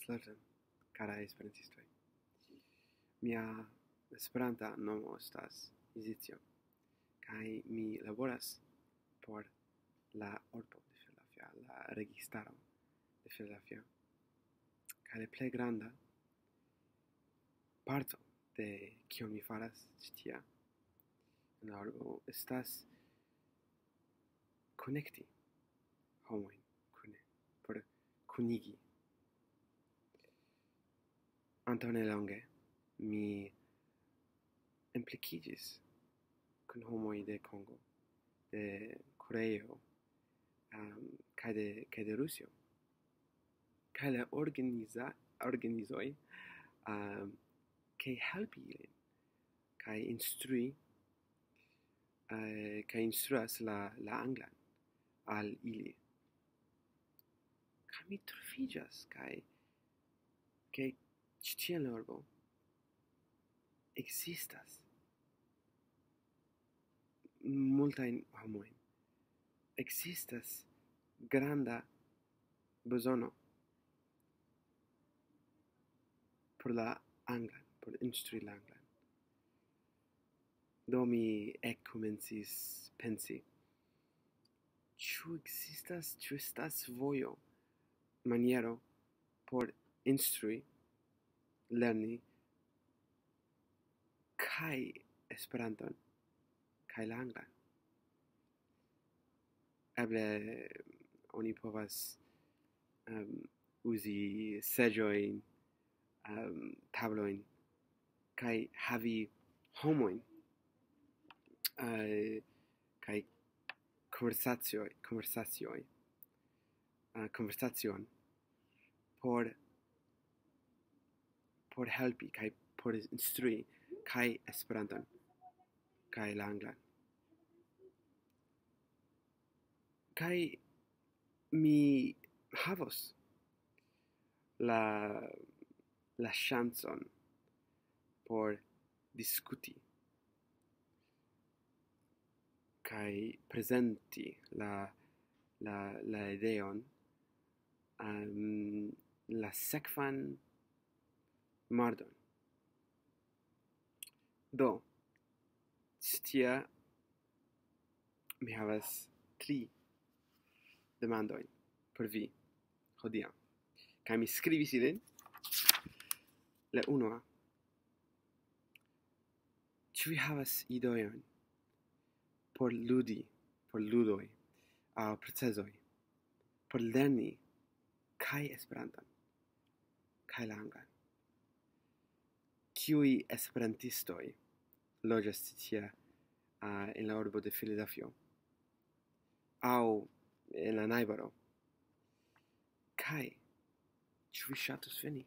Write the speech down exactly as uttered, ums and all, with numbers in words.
Saluton, karaj esperantistoj. Mia Esperanta nomo estas Izicio, kaj mi laboras por la urbo de Filadelfia, la registaro de Filadelfia. Kaj la plej granda parto de kio mi faras ĉi tia en la urbo estas konekti homojn kune, por kunigi. Antaŭ nelonge mi implikiĝis kun homoj de Kongo, de Koreio, um, kaj de, kaj de Rusio. Kaj la organiza-, organizoj, um, kaj helpi ilin, kaj instrui, uh, kaj instruas la, la anglan al ili. Kaj mi troviĝas, kaj, kaj ĉi tie en la urbo ekzistas multajn homojn. Ekzistas granda bezono por la anglan, por instrui la anglan. Do mi ekkomencis pensi, ĉu ekzistas, ĉu estas vojo, maniero por instrui, lerni kaj Esperanton, kaj la anglan. Eble oni povas, um, uzi seĝojn, um, tablojn, kaj havi homojn, uh, kaj konversacioj, konversacioj, uh, konversacion por, por helpi, kaj por instrui, kaj Esperanton, kaj la anglan. Kaj mi havos la, la ŝancon por diskuti kaj prezenti la, la, la ideon, um, la sekvan mardon. Do, ĉi tie mi havas tri demandojn por vi hodiaŭ. Kaj mi skribis ilin. La unua. Ĉu vi havas idojn por ludi, por ludoj, aŭ procezoj, por lerni kaj Esperanton, kaj la anglan? Kiuj esperantistoj loĝas ĉi tie, uh, en la urbo de Filadelfio? Aŭ en la najbaro? Kaj ĉu vi ŝatus veni?